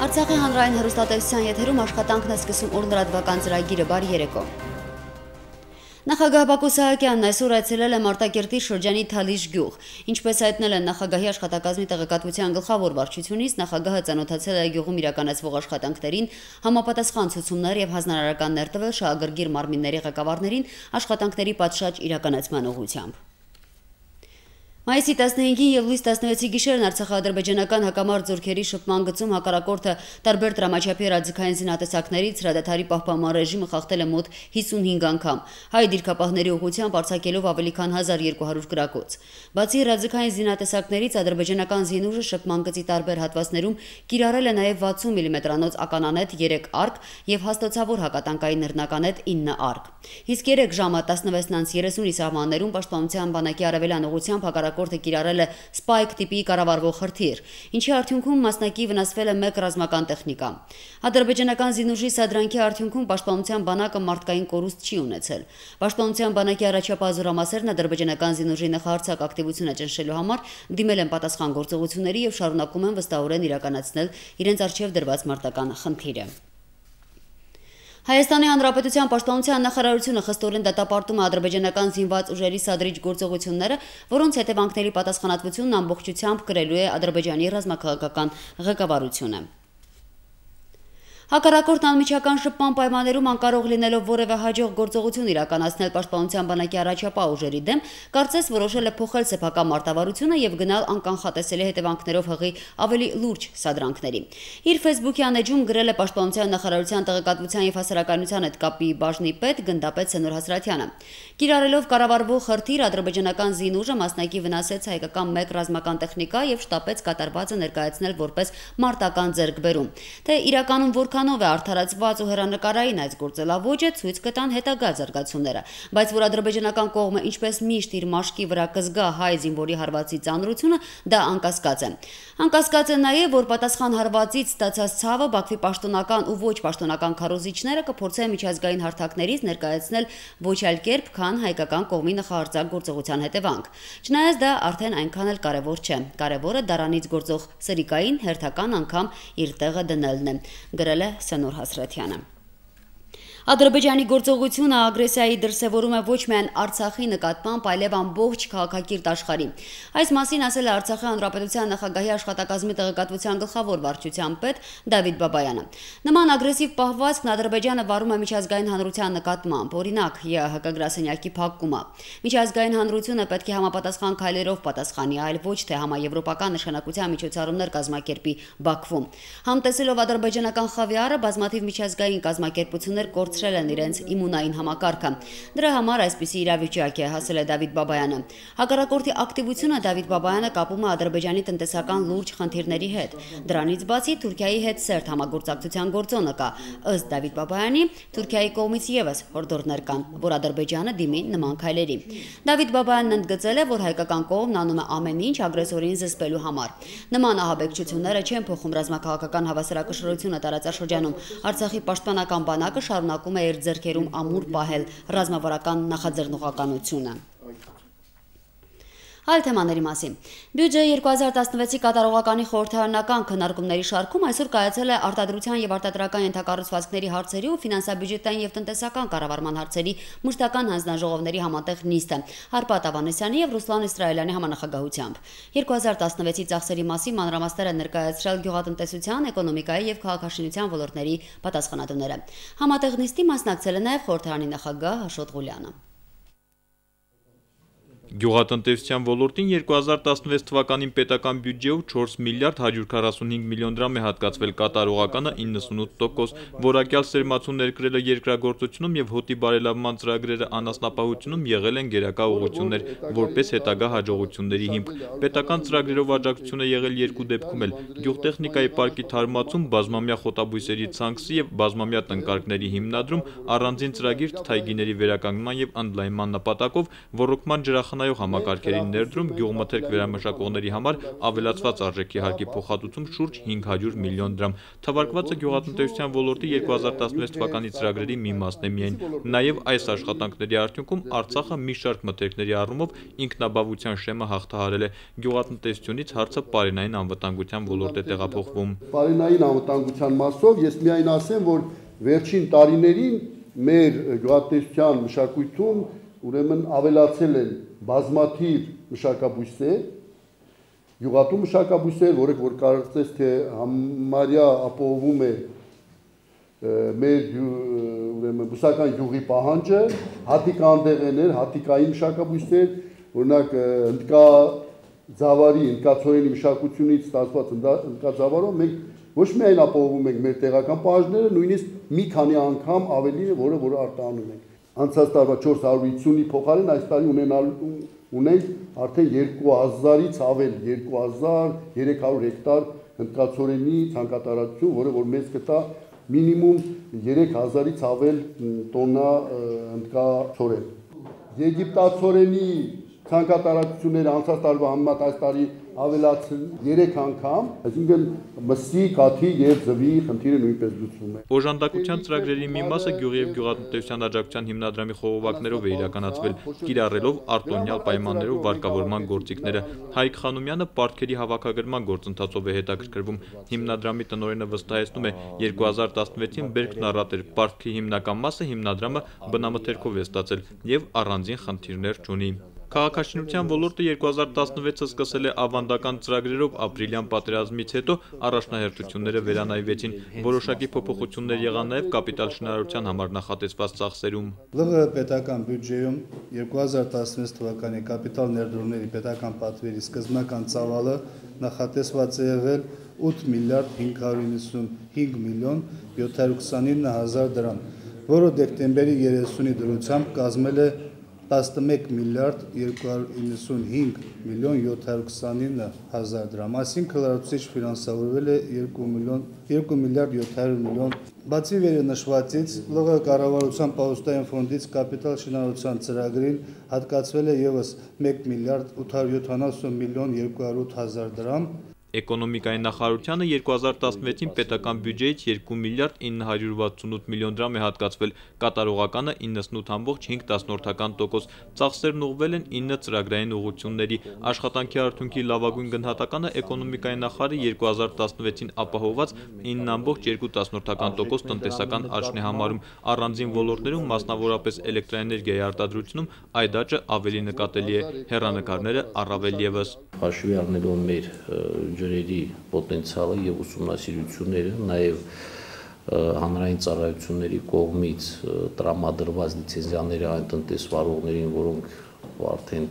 Արցախի հանրային հեռուստատեսության եթերում աշխատանքն է սկսում օր լրատվական ծրագիրը բարի երեկո։ Նախագահ Բակո Սահակյանն այսօր այցելել է Մարտակերտի շրջանի Թալիշ գյուղ։ Ինչպես հայտնել են նախագահի աշխատակազմի տեղեկատվության գլխավոր վարչությունից, նախագահը ծանոթացել է գյուղում իրականացվող աշխատանքներին, համապատասխան ցուցումներ եւ հանրարարականներ տվել շահագրգիռ մարմինների ղեկավարներին աշխատանքների պատշաճ իրականացման ուղղությամբ։ Մայիսի 15-ին եւ լույս 16-ի գիշերն արցախա-ադրբեջանական հակամարտ զորքերի շփման գծում հակառակորդը տարբեր դրամաչափի ռադիկային զինատեսակներից հրադադարի պահպանման ռեժիմը խախտել է մոտ 55 անգամ, հայ դիրքապահների ուղղությամբ արձակելով ավելի քան 1200 գրակոց։ Բացի ռադիկային զինատեսակներից ադրբեջանական զինուժը շփման գծի տարբեր հատվածներում կիրառել է նաեւ 60 մմ-անոց ականանետ 3 արկ եւ հաստոցավոր հակատանկային նռնականետ 9 արկ։ Իսկ 3 ժամը 16:30-ի սահմաններում պաշտպանության բանակի արևելյան ուղղությամբ հակառակորդը կիրառել է սպայք տիպի կառավարվող հրթիռ, ինչի արդյունքում մասնակի վնասվել է 1 ռազմական տեխնիկա։ Ադրբեջանական զինուժի սադրանքի արդյունքում պաշտպանության բանակը մարդկային կորուստ չի ունեցել։ Պաշտպանության բանակի առաջապահ զորամասերն ադրբեջանական զինուժի նախահարձակ ակտիվությունը ճնշելու համար դիմել են պատասխան գործողությունների եւ շարունակում են վստահորեն իրականացնել իրենց առջեւ դրված մարտական խնդիրը։ Հայաստանի Հանրապետության պաշտպանության նախարարությունը խստորեն դատապարտում է ադրբեջանական զինված ուժերի սադրիչ գործողությունները, որոնց հետևանքների պատասխանատվությունն ամբողջությամբ կրելու է Ադրբեջանի ռազմաքաղաքական ղեկավարությունը։ Հակառակորդն անմիջական շփման պայմաններում անկարող լինելով որևէ հաջող գործողություն իրականացնել պաշտպանության բանակի առաջապահ ուժերի դեմ, կարծես որոշել է փոխել սեփական մարտավարությունը եւ գնալ անկանխատեսելի հետևանքներով հղի ավելի լուրջ սադրանքների։ Իր Facebook-յան էջում գրել է պաշտպանության նախարարության տեղեկատվության եւ հասարակայնության հետ կապի բաժնի պետ գնդապետ Սենոր Հասրատյանը։ Կիրառելով կառավարվող հրթիռ ադրբեջանական զինուժը մասնակի վնասեց հայկական 1 ռազմական տեխնիկա եւ շտապեց կատարվածը ներկայացնել որպես մարտական ձեռքբերում։ Թե իրականում որքանով է արդարացված ու հեռանկարային այս գործելավոճը ցույց կտան հետագա զարգացումները, բայց որ ադրբեջանական կողմը ինչպես միշտ իր մաշկի վրա կզգա հայ զինվորի հարվածի ծանրությունը, դա անկասկած է։ Անկասկած է նաեւ, որ պատասխան հարվածից ստացած ցավը Բաքվի պաշտոնական ու ոչ պաշտոնական քարոզիչները կփորձեն միջազգային հարթակներից ներկայացնել ոչ այլ կերպ, քան հայկական կողմի նախահարձակ գործողության հետևանք։ Չնայած դա արդեն այնքան էլ կարևոր չէ։ Կարևորը դարանից գործող սրիկային հերթական անգամ իր տեղը դնելն է, գրել է Սենոր Հասրատյանը։ Ադրբեջանի գործողությունը ագրեսիայի դրսևորում է ոչ միայն Արցախի նկատմամբ, այլև ամբողջ քաղաքակիրթ աշխարհի։ Այս մասին ասել է Արցախի հանրապետության նախագահի աշխատակազմի տեղեկատվության գլխավոր վարչության պետ Դավիթ Բաբայանը։ Նման ագրեսիվ պահվածքն Ադրբեջանը վարում է միջազգային հանրության նկատմամբ, օրինակ ՀՀԿ գրասենյակի փակումը։ Միջազգային հանրությունը պետք է համապատասխան քայլերով պատասխանի, այլ ոչ թե համաեվրոպական նշանակության միջոցառումներ կազմակերպի Բաքվում։ Համտեսելով ադրբեջանական խավիարը, բազմաթիվ միջազգային կազմակերպություններ կորցրել են իրենց իմունային համակարգը։ Դրա համար այսպիսի իրավիճակ է, ասել է Դավիթ Բաբայանը։ Հակառակորդի ակտիվությունը Դավիթ Բաբայանը կապում է Ադրբեջանի տնտեսական լուրջ խնդիրների հետ։ Դրանից բացի Թուրքիայի հետ սերտ համագործակցության գործոնը կա։ Ըստ Դավիթ Բաբայանի, Թուրքիայի կողմից եւս հորդորներ կան, որ Ադրբեջանը դիմի նման քայլերի։ Դավիթ Բաբայանն ընդգծել է, որ հայկական կողմն անում է ամեն ինչ ագրեսորին զսպելու համար։ Նման ահաբեկչությունները չեն փոխում ռազմաքաղաքական հավասարակշռությունը տարածաշրջանում։ Արցախի պաշտպանական բանակը շարունակում է իր ձեռքերում ամուր պահել ռազմավարական նախաձեռնողականությունը։ Այլ թեմաների մասին։ Բյուջեի 2016-ի կատարողականի խորհրդարանական քննարկումների շարքում այսօր կայացել է արտադրության եւ արտադրական ենթակառուցվածքների հարցերի ու ֆինանսա-բյուջետային եւ տնտեսական կառավարման հարցերի մշտական հանձնաժողովների համատեղ նիստը Հարպատ Ավանեսյանի եւ Ռուսլան Իսրայելյանի համանախագահությամբ։ 2016-ի ծախսերի մասին մանրամասներ են ներկայացրել գյուղատնտեսության, էկոնոմիկայի եւ քաղաքաշինության ոլորտների պատասխանատուները։ Համատեղ նիստի մասնակցել է նաեւ խորհրդարանի նախագահ Աշոտ Ղուլյանը։ Գյուղատնտեսության ոլորտին 2016 թվականին պետական բյուջեով 4 միլիարդ 145 միլիոն դրամ է հատկացվել, կատարողականը 98%, որակյալ սերմացում ներկրելը երկրագործությունում եւ հոտի բարելավման ծրագրերը անասնապահությունում եղել են գերակա ուղղություններ, որպես հետագա հաջողությունների հիմք։ Պետական ծրագրերով աջակցություն է եղել երկու դեպքում էլ՝ գյուղտեխնիկայի պարկի թարմացում, բազմամյա խոտաբույսերի ցանքսի եւ բազմամյա տնկարկների հիմնադրում, առանձին ծրագիր թթայգիների վերականգնման եւ ընդլայնման նպատակով, ոռոգման ջրախնայ նախնայող համակարգերի ներդրում, գյուղմթերք վերամշակողների համար ավելացված արժեքի հարկի փոխհատուցում շուրջ 500 միլիոն դրամ։ Թվարկվածը գյուղատնտեսության ոլորտի 2016 թվականի ծրագրերի մի մասն է միայն։ Նաև այս աշխատանքների արդյունքում Արցախը մի շարք մթերքների առումով ինքնաբավության շեմը հաղթահարել է։ Գյուղատնտեսությունից հարցը պարենային անվտանգության ոլորտ է տեղափոխվում։ Պարենային անվտանգության մասով ես միայն ասեմ, որ վերջին տարիներին մեր գյուղատնտեսության մշակույթում ուրեմն ավելացել են բազմաթիվ մշակաբույսեր, գյուղատու մշակաբույսեր, որոնք որ կարծես թե համարյա ապահովում է մեր ուրեմն բուսական յուղի պահանջը, հատիկանդեղներ, հատիկային մշակաբույսեր, օրինակ հնդկաձավարի, հնդկացորենի մշակությունից ստացված հնդկաձավարով մենք ոչ միայն ապահովում ենք մեր տեղական պահանջները, նույնիսկ մի քանի անգամ ավելի, որը արտահանում ենք։ Անցած տարվա 450-ի փոխարեն այս տարի ունենք արդեն 2000-ից ավել 2300 հեկտար հնդկացորենի ցանկատարածություն, որը որ մեզ կտա մինիմում 3000-ից ավել տոննա հնդկացորեն։ Եգիպտացորենի ցանկատարածությունները անցած տարվա համեմատ այս տարի ավելացել 3 անգամ, այսինքն մսի, կաթի եւ ձվի խնդիրը նույնպես լուծվում է։ Օժանդակության ծրագրերի մի մասը գյուղի եւ գյուղատնտեսության աջակցության հիմնադրամի խողովակներով է իրականացվել, կիրառելով արտոնյալ պայմաններով վարկավորման գործիքները։ Հայկ Խանոմյանը պարտքերի հավաքագրման գործընթացով է հետաքրքրվում։ Հիմնադրամի տնօրենը վստահեցնում է, 2016-ին Բերքն առատ էր, պարտքի հիմնական մասը հիմնադրամը բնամթերքով է ստացել եւ առանձին խնդիրներ չունի։ Քաղաքաշինության ոլորտը 2016-ը սկսել է ավանդական ծրագրերով, ապրիլյան պատերազմից հետո առաջնահերթությունները վերանայվեցին, որոշակի փոփոխություններ եղան նաև կապիտալ շինարարության համար նախատեսված ծախսերում։ ԼՂՀ պետական բյուջեում 2016 թվականի կապիտալ ներդրումների պետական պատվերի սկզբնական ծավալը նախատեսված է եղել 8 միլիարդ 595 միլիոն 729 հազար դրամ, որը դեկտեմբերի 30-ի դրությամբ կազմել է 11 միլիարդ 295 միլիոն 729 հազար դրամ, այսինքն լրացուցիչ ֆինանսավորվել է 2 միլիարդ 700 միլիոն։ Բացի վերնշվածից, ԼՂՀ կառավարության պահուստային ֆոնդից կապիտալ շինարարության ծրագրին հատկացվել է ևս 1 միլիարդ 870 միլիոն 208 հազար դրամ։ Էկոնոմիկայի նախարարությանը 2016-ին պետական բյուջեից 2 միլիարդ 968 միլիոն դրամ է հատկացվել, կատարողականը 98.5%, ծախսերն ուղղվել են 9 ծրագրային ուղղությունների։ Աշխատանքի արդյունքի լավագույն գնահատականը էկոնոմիկայի նախարարի 2016-ին ապահովված 9.2% տնտեսական աճն է համարում։ Առանձին ոլորտներում, մասնավորապես էլեկտրաէներգիայի արտադրությունում այդ աճը ավելի նկատելի է, հեռանկարները առավել ևս։ Հաշվի առնելով մեր ջրերի պոտենցիալը եւ ուսումնասիրությունները, նաեւ հանրային ծառայությունների կողմից տրամադրված լիցենզիաները այն տնտեսվարողներին, որոնք արդեն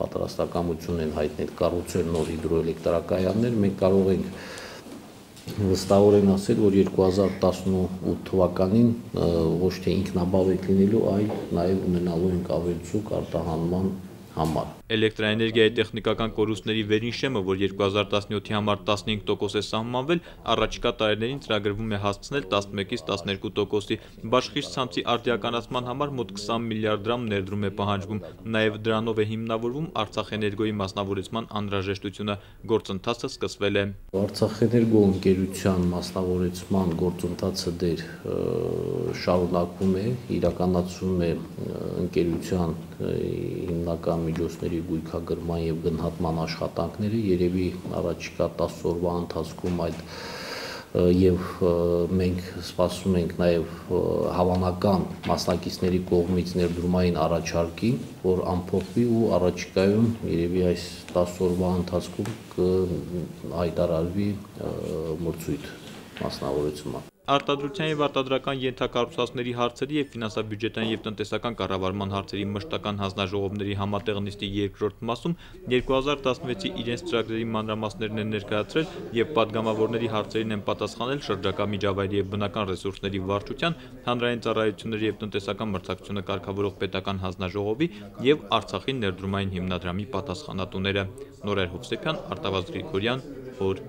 պատրաստակամություն են հայտնել կառուցել նոր հիդրոէլեկտրակայաններ, մենք կարող ենք վստահորեն ասել, որ 2018 թվականին ոչ թե ինքնաբավ ենք լինելու, այլ նաեւ ունենալու ենք ավելցուկ արտահանման համար։ Էլեկտրաէներգիայի տեխնիկական կորուստների վերին շեմը, որ 2017-ի համար 15% է սահմանվել, առաջիկա տարիներին ծրագրվում է հասցնել 11-ից 12%-ի։ Բաշխից ցանցի արդիականացման համար մոտ 20 միլիարդ դրամ ներդրում է պահանջվում։ Նաև դրանով է հիմնավորվում Արցախէներգոյի մասնավորեցման անհրաժեշտությունը։ Գործընթացը սկսվել է։ Արցախէներգո ընկերության մասնավորեցման գործընթացը դեռ շարունակվում է, իրականացվում է ընկերության հիմնական միջոցների գույքագրման եւ գնահատման աշխատանքները, երևի առաջիկա 10 օրվա ընթացքում այդ եւ մենք սպասում ենք նաեւ հավանական մասնակիցների կողմից ներդրումային առաջարկի, որ ամփոփվի ու առաջիկայում երևի այս 10 օրվա ընթացքում կհայտարարվի մրցույթ մասնավորեցման։ Արտադրության եւ արտադրական ենթակառուցվածքների հարցերի եւ ֆինանսաբյուջետային եւ տնտեսական կառավարման հարցերի մշտական հանձնաժողովների համատեղ նիստի երկրորդ մասում 2016-ի իրենց ծրագրերի մանրամասներն են ներկայացրել եւ падգամավորների հարցերին են պատասխանել շրջակա միջավայրի եւ բնական ռեսուրսների վարչության, հանրային ծառայությունների եւ տնտեսական մրցակցությունը կարգավորող պետական հանձնաժողովի եւ Արցախի ներդրումային հիմնադրամի պատասխանատուները։ Նորայր Հովսեփյան, Արտավազդ Գրիգորյան, օր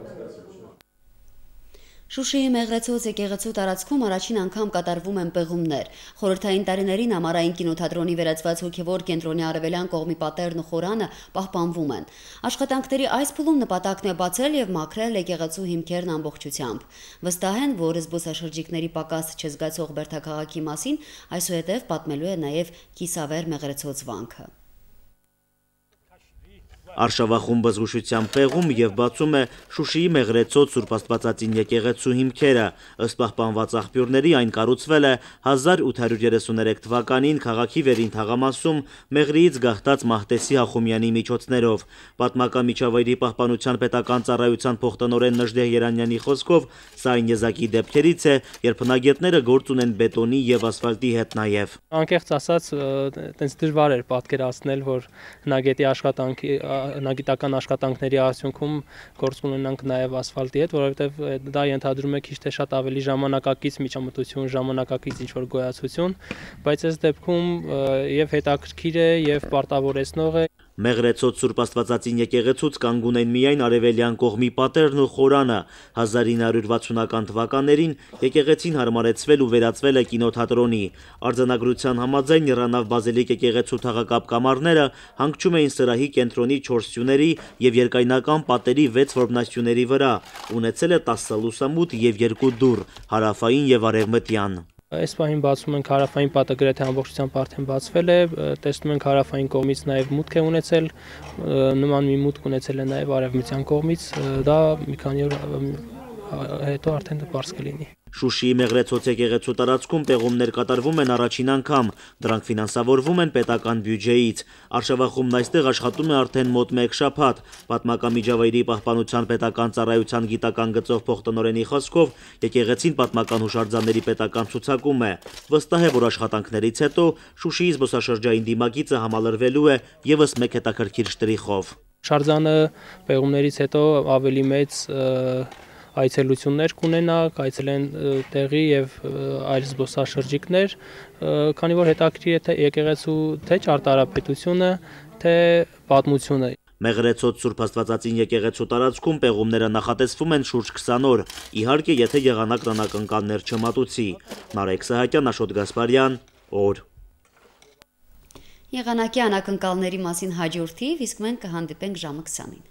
Շուշիի Մեղրեցոց եկեղեցու տարածքում առաջին անգամ կատարվում են պեղումներ։ Խորհրդային տարիներին ամառային կինոթատրոնի վերածված հոգևոր կենտրոնի արևելյան կողմի պատերն ու խորանը պահպանվում են։ Աշխատանքների այս փուլում նպատակն է բացել եւ մաքրել եկեղեցու հիմքերն ամբողջությամբ։ Վստահ են, որ զբոսաշրջիկների պակաս չզգացող Բերդաքաղաքի մասին այսուհետև պատմելու է նաեւ Կիսավեր Մեղրեցոց վանքը։ Արշավախումբը զգուշությամբ պեղում եւ բացում է Շուշիի Մեղրեցոց Սուրբ Աստվածածին եկեղեցու հիմքերը։ Ըստ պահպանված աղբյուրների այն կառուցվել է 1833 թվականին քաղաքի վերին թաղամասում Մեղրիից գաղթած Մահտեսի Հախոմյանի միջոցներով։ Պատմական միջավայրի պահպանության պետական ծառայության փոխտնօրեն Նժդեհ Երանյանի խոսքով սա այն եզակի դեպքերից է, երբ հնագետները գործ ունեն բետոնի եւ ասֆալտի հետ նաեւ։ Անկեղծ ասած, տենց դժվար էր պատկերացնել, որ հնագիտական աշխատանքների արդյունքում գործ ունենանք նաև ասֆալտի հետ, որովհետև դա ենթադրում է քիչ թե շատ ավելի ժամանակակից միջամտություն, ժամանակակից ինչ-որ գոյացություն, բայց այս դեպքում եւ հետաքրքիր է եւ պարտավորեցնող է։ Մեղրեցոց Սուրբ Աստվածածին եկեղեցուց կանգուն են միայն արևելյան կողմի պատերն ու խորանը։ 1960-ական թվականներին եկեղեցին հարմարեցվել ու վերածվել է կինոթատրոնի։ Արձանագրության համաձայն Նիռանավ Բազիլիկ եկեղեցու թաղակապ կամարները հանգչում էին սրահի կենտրոնի 4 սյուների եւ երկայնական պատերի 6 որմնասյուների վրա։ Ունեցել է 10 լուսամուտ եւ 2 դուռ՝ հարավային եւ արևմտյան։ Այս պահին բացում ենք հարավային պատը գրեթե ամբողջությամբ արդեն բացվել է, տեսնում ենք հարավային կողմից նաև մուտք է ունեցել, նման մի մուտք ունեցել է նաև արևմտյան կողմից, դա մի քանի օր հետո արդեն բաց կլինի։ Շուշիի Մեղրեցոց եկեղեցու տարածքում պեղումներ կատարվում են առաջին անգամ, դրանք ֆինանսավորվում են պետական բյուջեից։ Արշավախումբն այստեղ աշխատում է արդեն մոտ 1 շաբաթ։ Պատմական միջավայրի պահպանության պետական ծառայության գիտական գծով փոխտնօրենի խոսքով եկեղեցին պատմական հուշարձանների պետական ցուցակում է։ Վստահ է, որ աշխատանքներից հետո Շուշիի զբոսաշրջային դիմագիծը համալրվելու է եւս մեկ հետաքրքիր շտրիխով։ Հուշարձանը պեղումներից հետո ավելի մեծ այցելություններ կունենա, կայցելեն տեղի եւ այլ զբոսաշրջիկներ, քանի որ հետաքրքիր է թե եկեղեցու թե ճարտարապետությունը, թե պատմությունը։ Մեղրեցոց Սուրբ Աստվածածին եկեղեցու տարածքում պեղումները նախատեսվում են շուրջ 20 օր, իհարկե եթե եղանակ անակնկալներ չմատուցի։ Նարեկ Սահակյան, Աշոտ Գասպարյան, օր։ Եղանակի անակնկալների մասին հաջորդիվ, իսկ մենք կհանդիպենք ժամը 20-ին։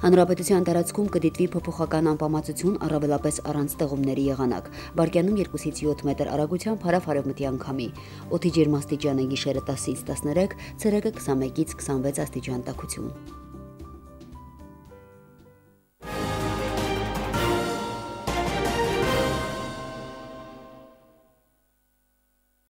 Հանրապետության տարածքում կդիտվի փոփոխական անպամացություն, առավելապես առանց տեղումների եղանակ։ Վարկյանում 2-ից 7 մետր արագությամբ հարավ-արևմտյան քամի։ Օդի ջերմաստիճանը գիշերը 10-ից 13, ցերեկը 21-ից 26 աստիճան տաքություն։